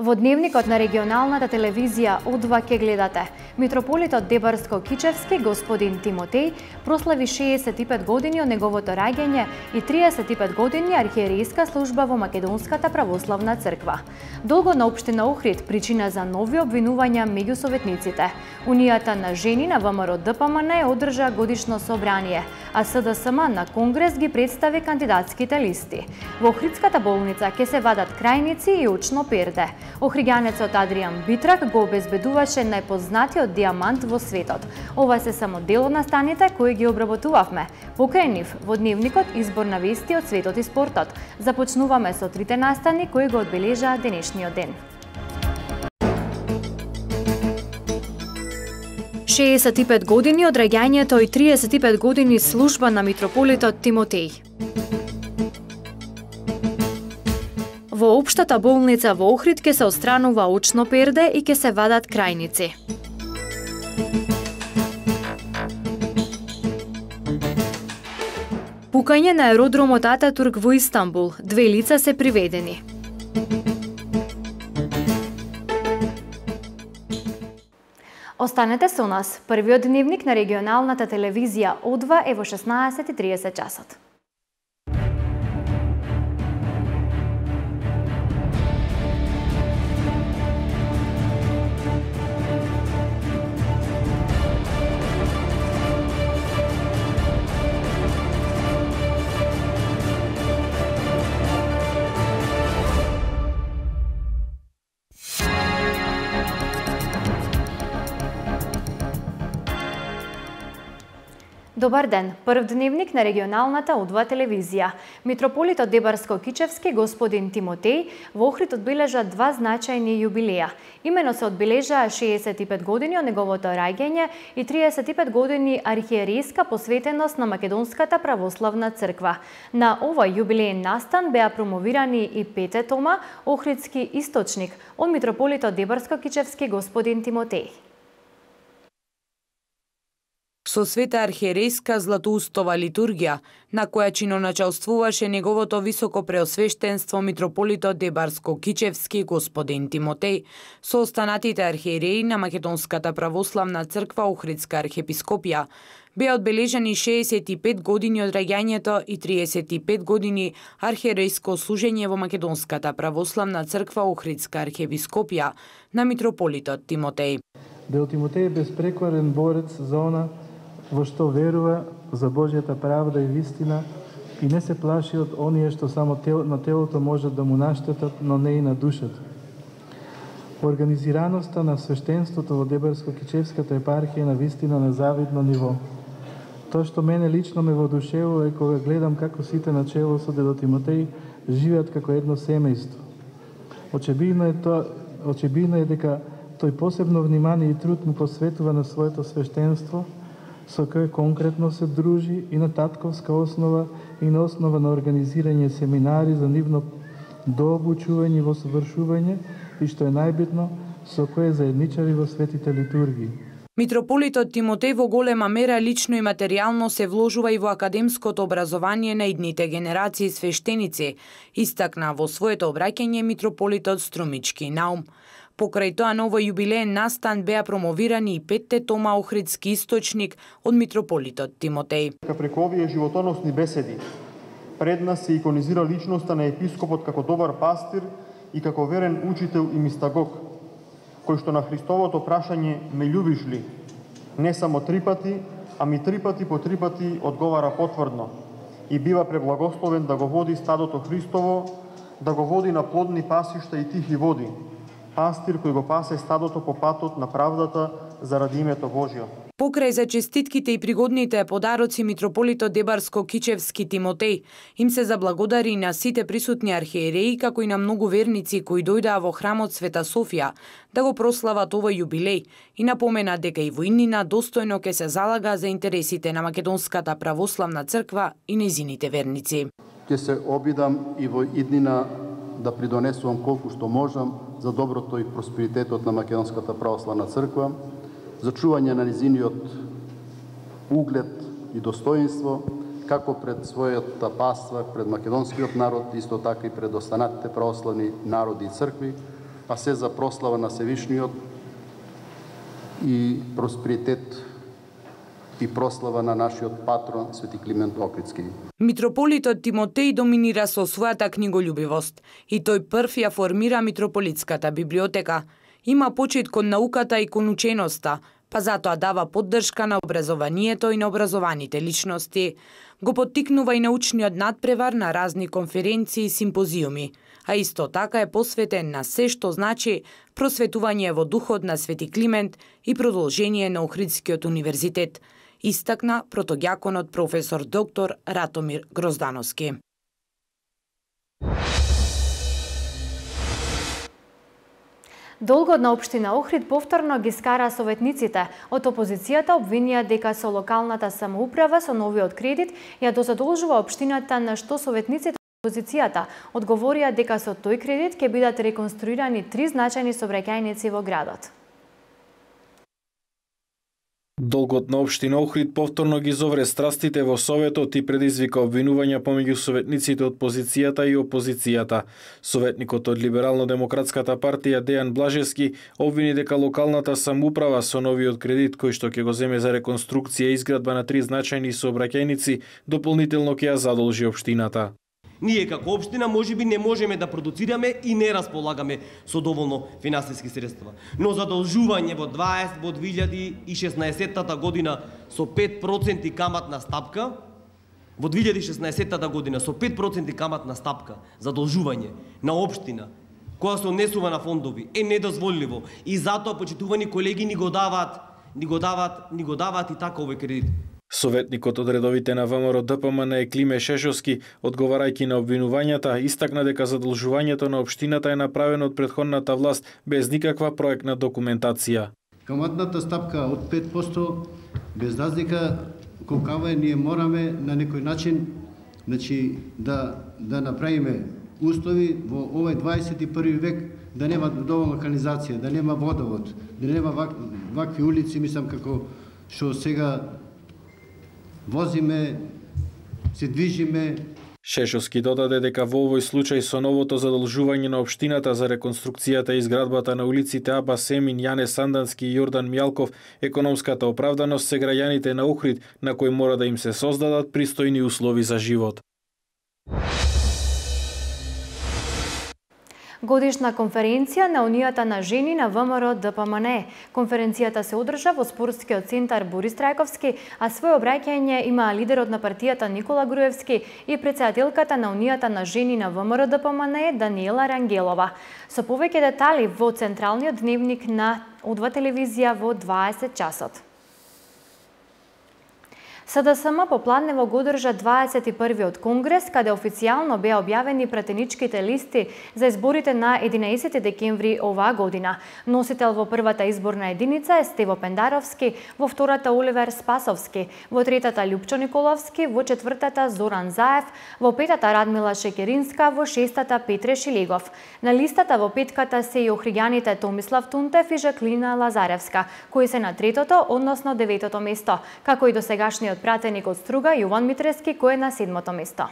Во дневникот на регионалната телевизија О2 ке гледате. Митрополитот Дебарско-Кичевски, господин Тимотеј, прослави 65 години од неговото раѓање и 35 години архиерејска служба во Македонската православна црква. Долго на општина Охрид причина за нови обвинувања меѓу советниците. Унијата на жени на ВМРО ДПМН одржа годишно собрание, а СДСМ на Конгрес ги представи кандидатските листи. Во Охридската болница ќе се вадат крајници и очно перде. Охриѓанецот Адријан Битрак го обезбедуваше најпознатиот диамант во светот. Ова се само дел од настаните кои ги обработувавме. Покрај нив, во дневникот избор на вести од светот и спортот. Започнуваме со трите настани кои го одбележаа денешниот ден. 65 години од раѓањето и 35 години служба на митрополитот Тимотеј. Во општата болница во Охрид ќе се отстранува очно перде и ќе се вадат крајници. Пукање на аеродромот Ататурк во Истанбул. 2 лица се приведени. Останете со нас. Првиот дневник на регионалната телевизија О2 е во 16:30 часот. Добар ден, прв дневник на регионалната О2 телевизија. Митрополитот Дебарско-Кичевски, господин Тимотеј, во Охрид одбележа 2 значајни јубилеја. Имено се одбележаа 65 години од неговото раѓање и 35 години архиерејска посветеност на Македонската православна црква. На овој јубилеен настан беа промовирани и 5 тома Охридски источник од митрополитот Дебарско-Кичевски, господин Тимотеј. Со света архиерејска златоустова литургија, на која чиноначалствуваше неговото високо преосвештенство митрополитот Дебарско-Кичевски господин Тимотеј, со останатите архиереи на Македонската православна црква Охридска архиепископија, беа одбележани 65 години од раѓањето и 35 години архиерејско служење во Македонската православна црква Охридска архиепископија на митрополитот Тимотеј. Дел Тимотеј е безпрекорен борец за она во што верува, за Божјата правда и вистина, и не се плаши од оние што само на телото можат да му наштетат, но не и на душата. Организираноста на свештенството во Дебарско-Кичевската епархија на вистина на завидно ниво. Тоа што мене лично ме воодушевува е кога гледам како сите на чело со дедо Тимотеј живеат како едно семејство. Очебидно е дека тој посебно внимание и труд му посветува на своето свештенство, со кој конкретно се дружи и на татковска основа и на основа на организирање семинари за нивно дообучување во совршување и што е најбитно, со кој заедничари во светите литургии. Митрополитот Тимотеј во голема мера лично и материјално се вложува и во академското образование на идните генерации свештеници, истакна во своето обраќање митрополитот Струмички Наум. Покрај тоа на овој јубилеен настан беа промовирани и 5 тома Охридски источник од митрополитот Тимотеј. Преку овие животоносни беседи пред нас се иконизира личноста на епископот како добар пастир и како верен учител и мистагог, кој што на Христовото прашање "Ме љубиш ли?" не само 3 пати, ами 3 пати по 3 пати одговара потврдно и бива преблагословен да го води стадото Христово, да го води на плодни пасишта и тихи води. Пастир кој го пасе стадото по патот на правдата заради името Божјо. Покрај за честитките и пригодните подароци митрополитот Дебарско-Кичевски Тимотеј им се заблагодари на сите присутни архиереи како и на многу верници кои дојдаа во храмот Света Софија да го прослават овој јубилеј и напомена дека и во иднина достојно ќе се залага за интересите на Македонската православна црква и нејзините верници. Ќе се обидам и во иднина да придонесувам колку што можам за доброто и просперитетот на Македонската православна црква, за чување на низиниот углед и достоинство, како пред својата паства, пред македонскиот народ, исто така и пред останатите православни народи и цркви, а се за прослава на Севишниот и просперитет и прослава на нашиот патрон Свети Климент Охридски. Митрополитот Тимотеј доминира со својата книголюбивост и тој прв ја формира митрополитската библиотека. Има почит кон науката и кон ученоста, па затоа дава поддршка на образованието и на образованите личности. Го поттикнува и научниот надпревар на разни конференции и симпозиуми, а исто така е посветен на се што значи просветување во духот на Свети Климент и продолжение на Охридскиот универзитет, истакна протоѓаконот професор доктор Ратомир Гроздановски. Долгот на општина Охрид повторно ги скара советниците. Од опозицијата обвинија дека со локалната самоуправа со новиот кредит ја дозадолжува општината, на што советниците од опозицијата одговорија дека со тој кредит ќе бидат реконструирани 3 значајни сообраќајници во градот. Долгот на општина Охрид повторно ги зовре страстите во Советот и предизвика обвинувања помеѓу советниците од позицијата и опозицијата. Советникот од Либерално-демократската партија Дејан Блажевски обвини дека локалната самоуправа со новиот кредит кој што ќе го земе за реконструкција и изградба на 3 значајни сообраќајници дополнително ќе ја задолжи општината. Ние како општина можеби не можеме да продуцираме и не располагаме со доволно финансиски средства. Но задолжување во 2016 година со 5% каматна стапка, во 2016 година со 5% каматна стапка задолжување на општина која се однесува на фондови е недозволиво и затоа, почитувани колеги, ни го даваат и така овој кредит. Советникот од редовите на ВМРО ДПМН Климе Шешовски, одговарајќи на обвинувањата, истакна дека задолжувањето на општината е направено од претходната власт без никаква проектна документација. Каматната стапка од 5% без разлика колкава е, ние мораме на некој начин да направиме услови во овој 21 век да нема доволно канализација, да нема водовод, да нема вакви улици, мислам како што сега возиме, се движиме. Шешовски додаде дека во овој случај со новото задолжување на општината за реконструкцијата и изградбата на улиците Аба Семин, Јане Сандански и Јордан Мјалков, економската оправданост се граѓаните на Охрид, на кои мора да им се создадат пристојни услови за живот. Годишна конференција на Унијата на жени на ВМРО ДПМН. Конференцијата се одржа во спортскиот центар Борис Трајковски, а свој обраќање има лидерот на партијата Никола Груевски и претседателката на Унијата на жени на ВМРО ДПМН Даниела Рангелова. Со повеќе детали во централниот дневник на Удва телевизија во 20 часот. СДСМ попладнево го одржа 21-виот конгрес, каде официјално беа објавени пратеничките листи за изборите на 11 декември оваа година. Носител во првата изборна единица е Стево Пендаровски, во втората Оливер Спасовски, во третата Љупчо Николовски, во четвртата Зоран Заев, во петата Радмила Шекеринска, во шестата Петре Шилегов. На листата во петката се и охриѓаните Томислав Тунтев и Жаклина Лазаревска, кои се на третото, односно деветото место, како и досегашниот пратеник од Струга Јован Митрески, кој е на 7-то место.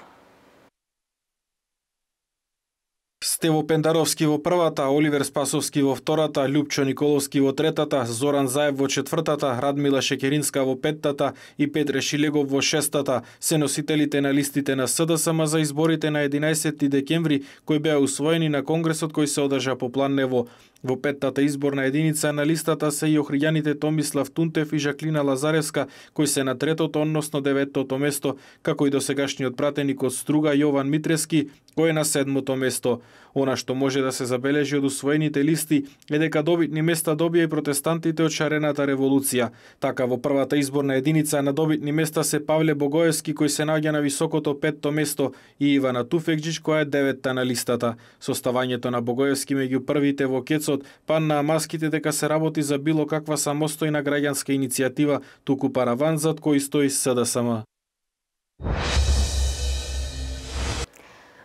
Стево Пендаровски во првата, Оливер Спасовски во втората, Љупчо Николовски во третата, Зоран Заев во четвртата, Радмила Шекеринска во петтата и Петре Шилегов во шестата се носителите на листите на СДСМ за изборите на 11 декември, кои беа усвоени на конгресот кој се одржа по Планнево. Во петтата изборна единица на листата се и охриѓаните Томислав Тунтев и Жаклина Лазаревска, кои се на третото, односно деветото место, како и досегашниот пратеник од Струга Јован Митрески, кој е на 7-то место. Она што може да се забележи од усвоените листи е дека добитни места добија и протестантите од Шарената револуција. Така во првата изборна единица на добитни места се Павле Богоевски, кој се наоѓа на високото 5-то место, и Ивана Туфекџич, која е 9-та на листата. Составањето на Богоевски меѓу првите во кецот падна маските дека се работи за било каква самостојна граѓанска иницијатива, туку параван зад кој стои СДСМ.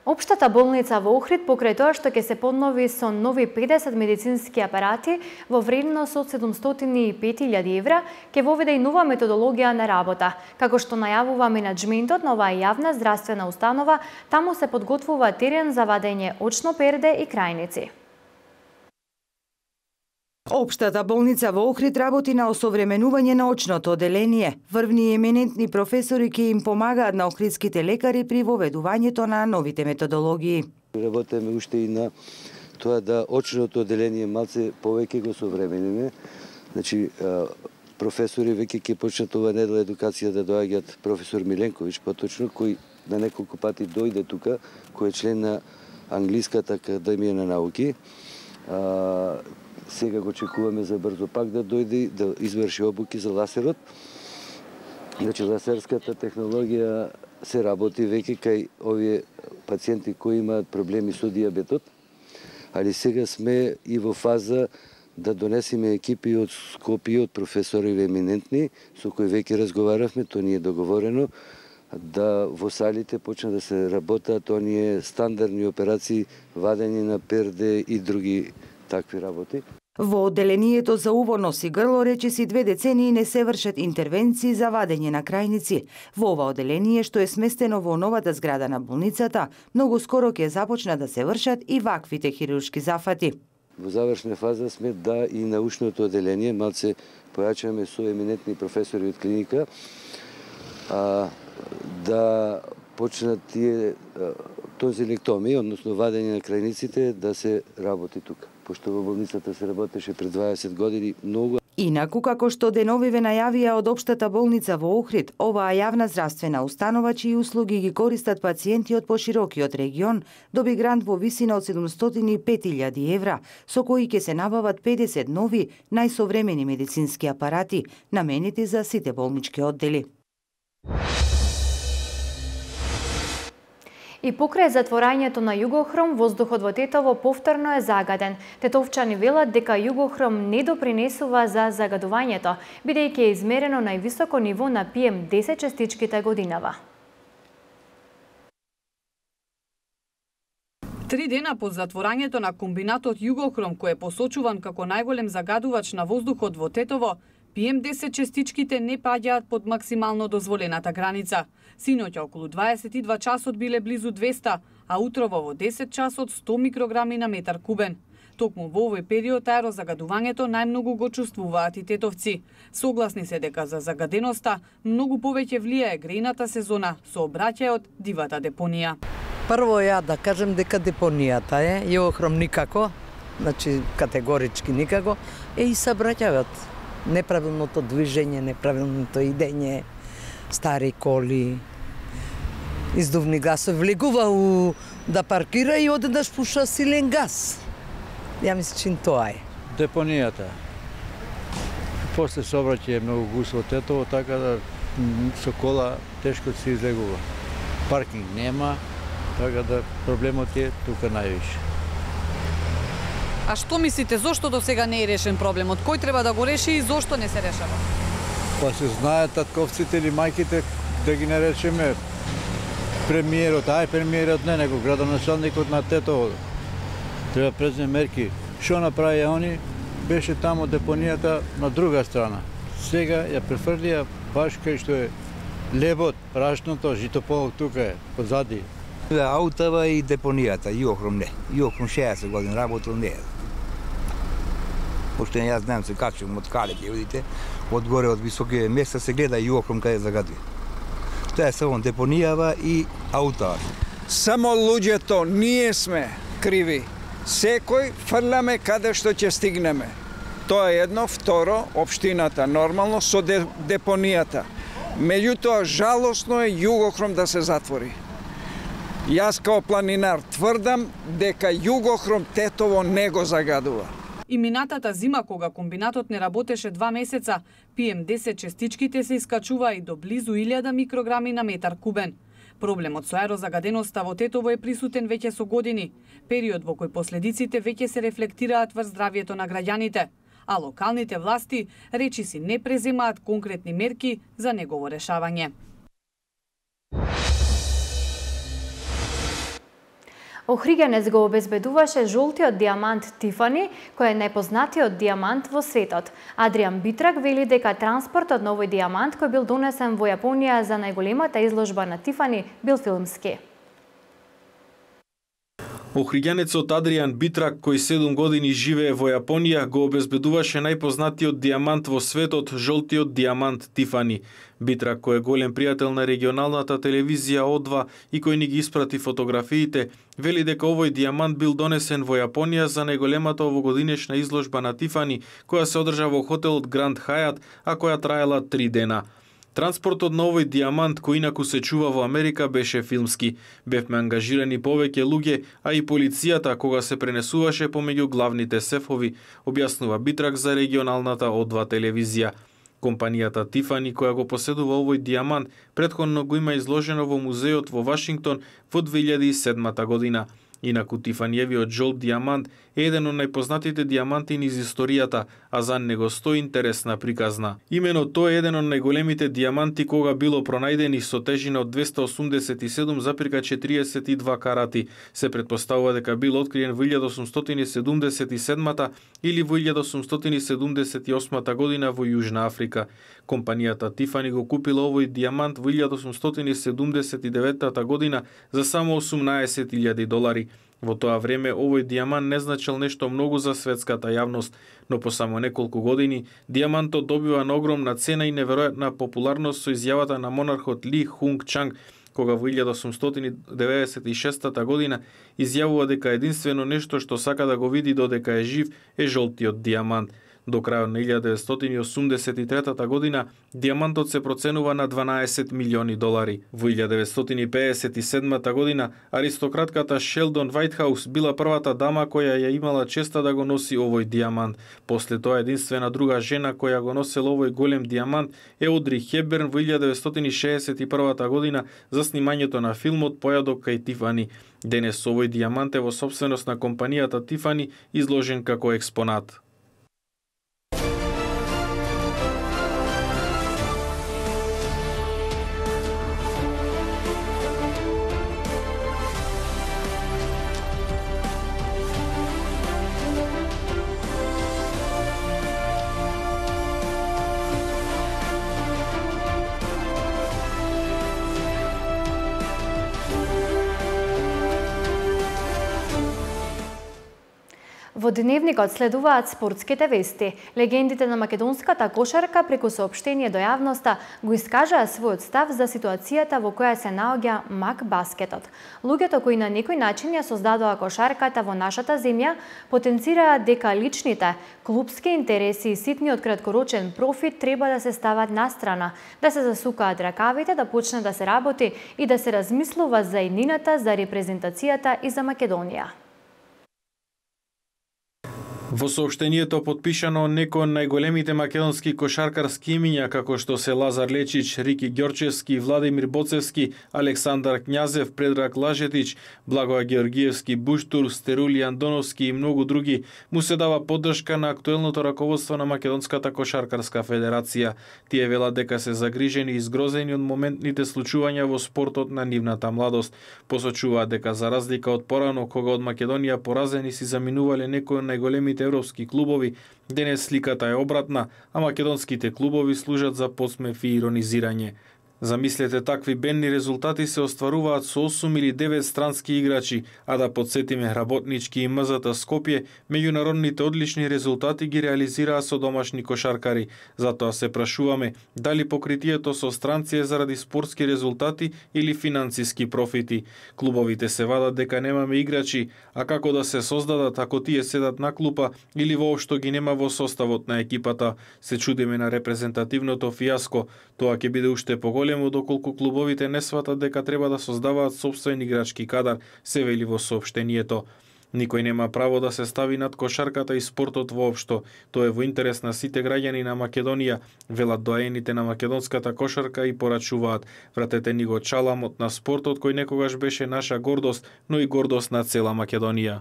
Општата болница во Охрид, покрај тоа што ќе се поднови со нови 50 медицински апарати во вредност од 705.000 евра, ќе воведе и нова методологија на работа. Како што најавува менаџментот на оваа јавна здравствена установа, таму се подготвува терен за вадење очно перде и крајници. Општата болница во Охрид работи на осовременување на очното оделение. Врвни и еминентни професори ќе им помагаат на охридските лекари при воведувањето на новите методологии. Работиме уште и на тоа да очното оделение малце повеќе го современиме. Значи, професори веќе ќе почнат ова недела едукација да доаѓаат, професор Миленковиќ поточно, кој на неколку пати дојде тука, кој е член на Англиската академија на науки. Сега го чекуваме за брзо пак да дојде да изврши обуки за ласерот. Значи, ласерската технологија се работи веќе кај овие пациенти кои имаат проблеми со диабетот, али сега сме и во фаза да донесеме екипи од Скопје, од професори еминентни, со кои веќе разговаравме, тоа ни е договорено, да во салите почна да се работат оние стандардни операции, вадење на перде и други такви работи. Во одделението за уво, нос и грло речиси 2 децении не се вршат интервенции за вадење на крајници. Во ова одделение, што е сместено во новата зграда на болницата, многу скоро ќе започнат да се вршат и ваквите хируршки зафати. Во завршна фаза сме да и научното одделение малце појачаме со еминентни професори од клиника, да почнат тие тонзилектомии, односно вадење на крајниците, да се работи тука. Пошто во болницата се работеше пред 20 години многу. Инаку, како што деновиве најавија од Општата болница во Охрид, оваа јавна здравствена установа, чии услуги ги користат пациенти од поширокиот регион, доби грант во висина од 705.000 евра, со кои ќе се набават 50 нови, најсовремени медицински апарати, наменети за сите болнички оддели. И покрај затворањето на Југохром, воздухот во Тетово повторно е загаден. Тетовчани велат дека Југохром не допринесува за загадувањето, бидејќи е измерено највисоко ниво на PM10 честичките годинава. 3 дена по затворањето на комбинатот Југохром, кој е посочуван како најголем загадувач на воздухот во Тетово, PM10 честичките не паѓаат под максимално дозволената граница. Синоќа околу 22 часот биле близу 200, а утрово во 10 часот 100 микрограми на метар кубен. Токму во овој период аерозагадувањето најмногу го чувствуваат и тетовци. Согласни се дека за загаденоста многу повеќе влијае грејната сезона со обраќајот дивата депонија. Прво ја да кажем дека депонијата е, Југохром никако, значи категорички никако, и сабраќајот. Неправилното движење, неправилното идење, стари коли, издувни гасови, влегува да паркира и одеднаш пуша силен газ. Ја мислам, че тоа е. Депонијата. После сообраќај е многу густ во Тетово, така да со кола тешко се излегува. Паркинг нема, така да проблемот е тука највише. А што мислите, зошто до сега не е решен проблемот? Кој треба да го реши и зошто не се решава? Па се знаат татковците или мајките, да ги наречеме премиерот, премиерот не, него градоначалникот на Тетово. Треба презме мерки. Што направија они? Беше тамо депонијата на друга страна. Сега ја префрлија баш кај што е лебот, прашното, житополот тука е, позади. Аутава и депонијата, Југохром не. Југохром 60 години работил не е. Пошто јас знам се качувам од калите, видите, одгоре од високите места се гледа Југохром каде загадува. Тоа е само депонијава и аутава. Само луѓето, ние сме криви. Секој фрляме каде што ќе стигнеме. Тоа е едно, второ, општината нормално со депонијата. Меѓутоа, жалосно е Југохром да се затвори. Јас као планинар тврдам дека Југохром Тетово не го загадува. И минатата зима, кога комбинатот не работеше 2 месеца, PM10 честичките се искачува и до близу 1000 микрограми на метар кубен. Проблемот со аерозагаденоста во Тетово е присутен веќе со години, период во кој последиците веќе се рефлектираат врз здравјето на граѓаните, а локалните власти речиси не преземаат конкретни мерки за негово решавање. Охригенец го обезбедуваше жолтиот дијамант Тифани, кој е најпознатиот дијамант во светот. Адриан Битрак вели дека транспортот на овој дијамант кој бил донесен во Јапонија за најголемата изложба на Тифани бил филмски. Охриѓанецот Адриан Битрак, кој 7 години живее во Јапонија, го обезбедуваше најпознатиот дијамант во светот, жолтиот дијамант Тифани. Битрак, кој е голем пријател на регионалната телевизија О2 и кој ни ги испрати фотографиите, вели дека овој дијамант бил донесен во Јапонија за најголемата овогодинешна изложба на Тифани, која се одржа во хотелот Гранд Хајат, а која траела 3 дена. Транспортот на овој дијамант, кој инаку се чува во Америка, беше филмски. Бевме ангажирани повеќе луѓе, а и полицијата кога се пренесуваше помеѓу главните сефови, објаснува Битрак за регионалната О2 телевизија. Компанијата Тифани, која го поседува овој дијамант, претходно го има изложено во музеот во Вашингтон во 2007 година. Инаку Тифаниевиот жолт дијамант е еден од најпознатите дијаманти низ историјата, а за него стои интересна приказна. Имено тој е еден од најголемите дијаманти кога било пронајдени со тежина од 287,42 карати. Се претпоставува дека бил откриен во 1877 или во 1878 година во Јужна Африка. Компанијата Тифани го купила овој дијамант во 1879 година за само $18,000. Во тоа време овој дијамант не значел нешто многу за светската јавност, но по само неколку години дијамантот добива на огромна цена и неверојатна популарност со изјавата на монархот Ли Хунг Чанг, кога во 1896 година изјавува дека единствено нешто што сака да го види додека е жив е жолтиот дијамант. До крајот на 1983 година дијамантот се проценува на $12 милиони. Во 1957 година аристократката Шелдон Вајтхаус била првата дама која ја имала честа да го носи овој дијамант. После тоа единствена друга жена која го носела овој голем дијамант е Одри Хепберн во 1961 година за снимањето на филмот Појадок кај Тифани. Денес овој дијамант е во сопственост на компанијата Тифани, изложен како експонат. Во дневникот следуваат спортските вести. Легендите на македонската кошарка преку соопштение до јавноста го искажаа својот став за ситуацијата во која се наоѓа МАК баскетот. Луѓето кои на некој начин ја создадоа кошарката во нашата земја потенцираат дека личните, клубски интереси и ситниот краткорочен профит треба да се стават настрана, да се засукаат ракавите, да почне да се работи и да се размислува за иднината, за репрезентацијата и за Македонија. Во соопштението подпишано некои од најголемите македонски кошаркарски имиња како што се Лазар Лечич, Рики Ѓорчевски, Владимир Боцевски, Александар Књазев, Предраг Лажетич, Благоја Георгиевски, Буштур, Стерули Андоновски и многу други, му се дава поддршка на актуелното раководство на Македонската кошаркарска федерација. Тие велат дека се загрижени и згрозени од моментните случувања во спортот на нивната младост. Посочуваат дека за разлика од порано кога од Македонија поразени си заминувале некои од најголемите европски клубови, денес сликата е обратна, а македонските клубови служат за подсмев и иронизирање. Замислете, такви бедни резултати се остваруваат со 8 или 9 странски играчи, а да подсетиме Работнички и МЗТ Скопје, меѓународните одлични резултати ги реализираа со домашни кошаркари. Затоа се прашуваме дали покритието со странци е заради спортски резултати или финансиски профити. Клубовите се вадат дека немаме играчи, а како да се создадат ако тие седат на клупа или воопшто ги нема во составот на екипата. Се чудиме на репрезентативното фијаско. Тоа ќе биде уште поголемо доколку клубовите не сватат дека треба да создаваат сопствен играчки кадар, се вели во соопштението. Никој нема право да се стави над кошарката и спортот воопшто. Тоа е во интерес на сите граѓани на Македонија, велат доаените на македонската кошарка и порачуваат: вратете ни го чаламот на спортот кој некогаш беше наша гордост, но и гордост на цела Македонија.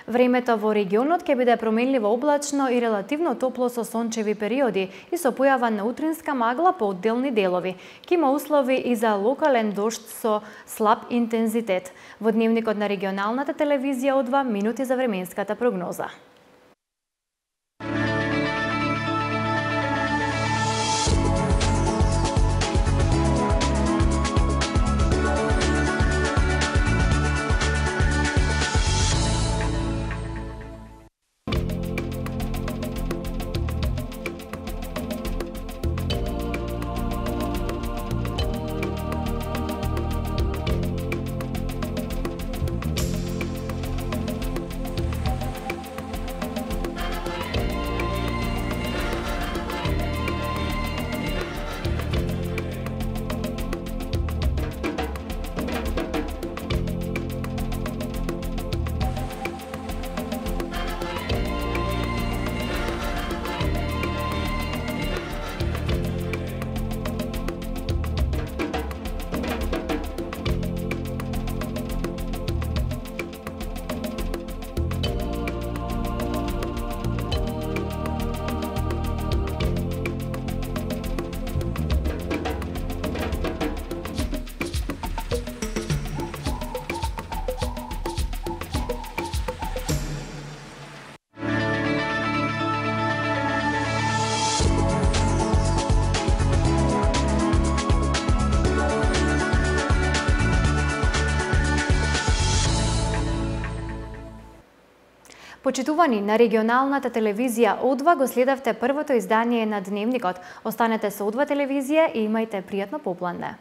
Времето во регионот ќе биде променливо облачно и релативно топло со сончеви периоди и со појава на утринска магла по одделни делови. Ќе има услови и за локален дожд со слаб интензитет. Во дневникот на регионалната телевизија од 2 минути за временската прогноза. Почитувани, на регионалната телевизија О2 го следавте првото издание на Дневникот. Останете со О2 телевизија и имајте пријатно попладне.